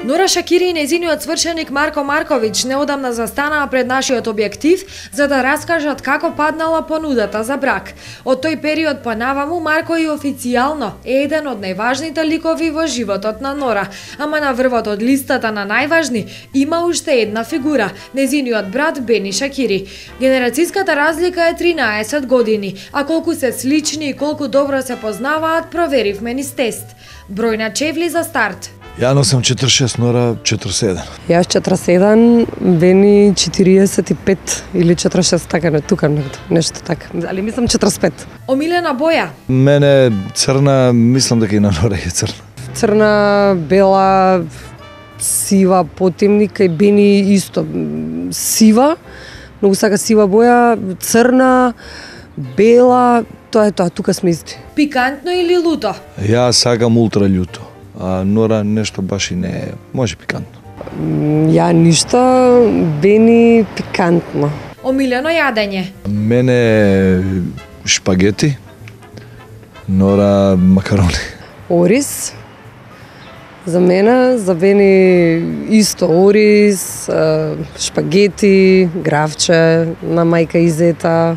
Нора Шакири и нејзиниот свршеник Марко Марковиќ неодамна застанаа пред нашиот објектив за да раскажат како паднала понудата за брак. Од тој период па наваму Марко и официјално е еден од најважните ликови во животот на Нора, ама на врвот од листата на најважни има уште една фигура, нејзиниот брат Бени Шакири. Генерацијската разлика е 13 години, а колку се слични и колку добро се познаваат проверивме низ тест. Број на чевли за старт. Ја носам 46, Нора 47. Јас 47, Бени 45 или 46, така не, тука нешто така. Али мислам 45. Омилена боја? Мене црна, мислам дека и на Нора е црна. Црна, бела, сива, потемника и Бени исто. Сива, многу сака сива боја, црна, бела, тоа е тоа, тука сме исти. Пикантно или луто? Ја сакам ултра љуто, а Нора нешто баш и не е, може пикантно. Ја ништо, Бени пикантно. Омилено јадење? Мене шпагети, Нора макарони. Ориз, за мене, за Бени исто ориз, шпагети, гравче на мајка и зета,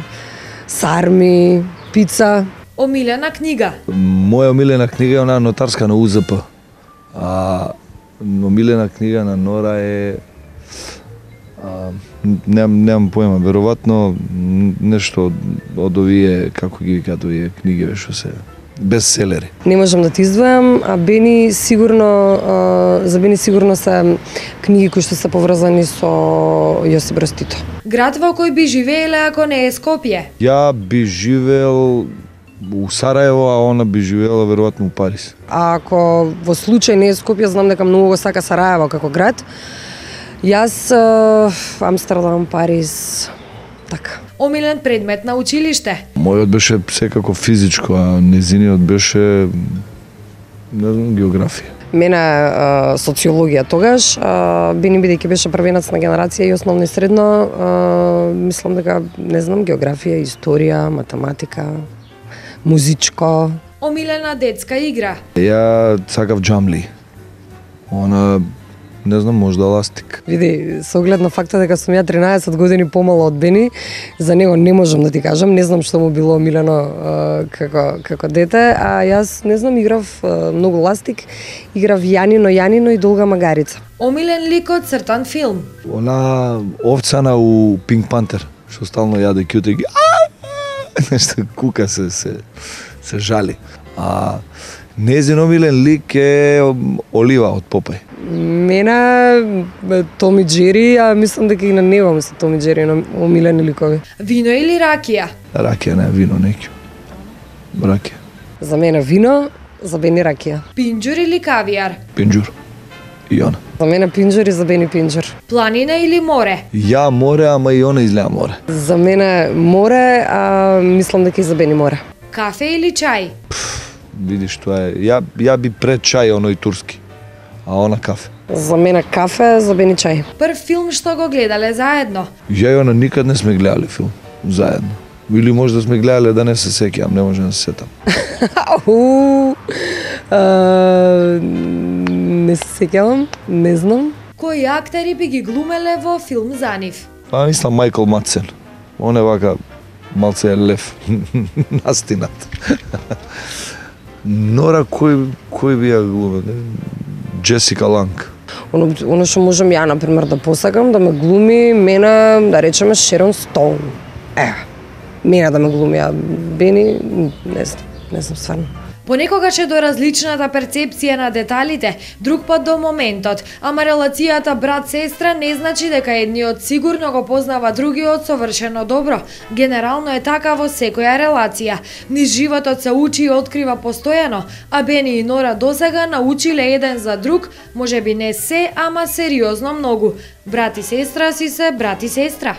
сарми, пица. Омилена книга? Моја омилена книга е онаа нотарска на УЗП. А омилена книга на Нора е немам поема, веројатно нешто од овие, како ги викаат овие книги што се бестселери. Не можам да ти издвојам, а Бени сигурно, за Бени сигурно се книги кои што се поврзани со Јосип Брз Тито. Град во кој би живееле ако не е Скопје? Ја би живеел у Сараево, а она би живеела веројатно у Париз. А ако во случај не е Скопје, знам дека многу го сака Сараево како град. Јас Амстердам, Париз, така. Омилен предмет на училиште? Мојот беше секако физичко, а незиниот беше, не знам, географија. Мене социологија тогаш, Бени бидејќи беше првенец на генерација и основно и средно, мислам дека, не знам, географија, историја, математика, музичко. Омилена детска игра? Ја сакав джамли. Она, не знам, можда ластик. Види, со оглед на факта дека сум ја 13 години помала од Бени, за него не можам да ти кажам, не знам што му било омилено како дете, а јас, не знам, играв многу ластик, играв Јанино и Долга магарица. Омилен лик од цртан филм? Она овцана у Пинк Пантер, што стално јаде кјутеги, нешто кука се жали. А незин омилен лик е Олива од Попај. Мене Том и Джери, а мислам дека и на него ми се Том и Джери омилени ликови. Вино или ракија? Ракија, не вино, неќу. Ракија. За мене вино, за Бени ракија. Пинџур или кавијар? Пинџур. И она. За мене пинџур и за Бени пинџур. Планина или море? Ја море, ама и она изгледа море. За мене море, а мислам дека и за Бени море. Кафе или чај? Видиш, тоа е. Ја би пред чај, оној турски. А она кафе. За мене кафе, за Бени чај. Прв филм што го гледале заедно? Ја и она никад не сме гледале филм заедно. Или може да сме гледале да не се сеќавам, не може да се сетам. Не се сеќавам, не знам. Кои актери би ги глумеле во филм за нив? Па мислам Мајкл Мадсен. Он е вака малце лев. Настинат. Нора кој би ја глумел? Джесика Ланг. Оно што можам ја, например, да посакам, да ме глуми, мене, да речеме, Шерон Стоун. Мене да ме глуми, а Бени, не знам стварно. Понекогаш е до различната перцепција на деталите, друг пат до моментот, ама релацијата брат-сестра не значи дека едниот сигурно го познава другиот совршено добро. Генерално е така во секоја релација. Низ животот се учи и открива постојано, а Бени и Нора досега научиле еден за друг, можеби не се, ама сериозно многу. Брат и сестра си се брат и сестра.